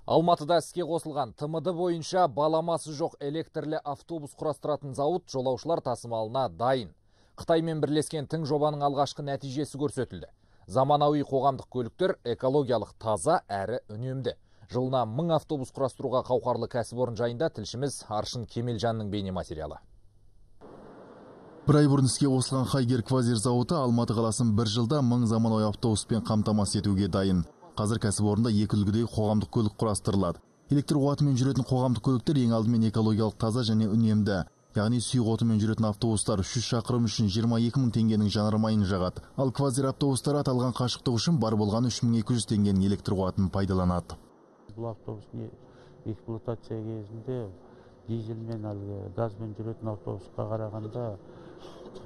Алматыда іске қосылған ТМД бойынша баламасы жоқ электрлі автобус құрастыратын зауыт жолаушылар тасымалына дайын. Қытаймен бірлескен тың жобаның алғашқы нәтижесі көрсетілді. Заманауи қоғамдық көліктер экологиялық таза әрі үнемді. Жылына 1000 автобус құрастыруға қауқарлы кәсіпорын жайында тілшіміз Аршын Кемелжанның бейне материалы. Бір ай бұрын іске қосылған Хайгер Квазир зауыты Алматы қаласын бір жылда 1000 заманауи автобуспен қамтамасыз етуге дайын. Қазір кәсіпорында екі үлгідегі қоғамдық көлік құрастырылады. Электр қуатымен жүретін қоғамдық көліктер ең алдымен экологиялық таза және үнемді. Яғни сұйық отынмен жүретін автобустар 300 шақырым үшін 22 000 теңгенің жанармайын жағады. Ал Квазир автобустары аталған қашықтық үшін бар болған 3200 теңгенің электр қуатын пайдаланады. Бұл автобустың эксплуатация кезінде дизельмен газбен жүретін автобусқа қарағанда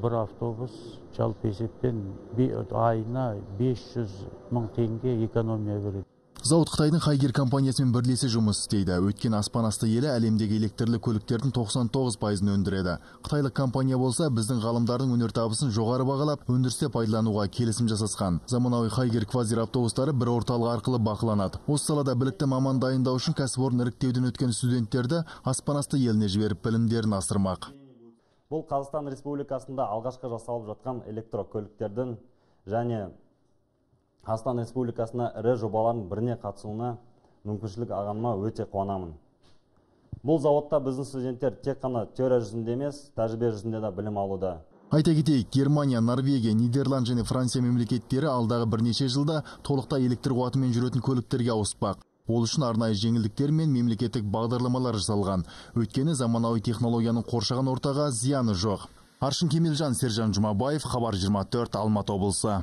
бір автобус жалпы есеппен айына 500 000 теңге экономия береді. Зауыт Қытайдың Хайгер компаниясымен бірлесе жұмыс істейді. Өткен аспан асты елі әлемдегі электрлі көліктердің 99%-ын өндіреді. Қытайлық компания болса, біздің ғалымдардың өнертабысын жоғары бағалап, өндірісте пайдалануға келісім жасасқан. Заманауи Хайгер Квазир автобустары бір орталық арқылы бақыланады. Осы салада білікті маман дайындау үшін кәсіпорын іріктеуден өткен студенттерді аспан асты еліне жіберіп білімдерін асырмақ. Бұл Қазақстан Республикасында алғашқы жасалып жатқан электрокөліктердің және Қазақстан Республикасына ірі жобалардың біріне қатысуына мүмкіншілік алғаныма өте қуанамын. Бұл зауытта біздің студенттер тек қана теория жүзінде емес, тәжірибе жүзінде де білім алуда. Айта кетейік, Германия, Норвегия, Нидерланд және Франция мемлекеттері алдағы бірнеше жылда толықтай электр қуатымен жүретін көліктерге ауыспақ. Ол үшін арнайы жеңілдіктер мен мемлекеттік бағдарламалар жасалған. Өйткені заманауи технологияның қоршаған ортаға зияны жоқ. Аршын Кемелжан, Сержан Жұмабаев, Хабар 24, Алматы облысы.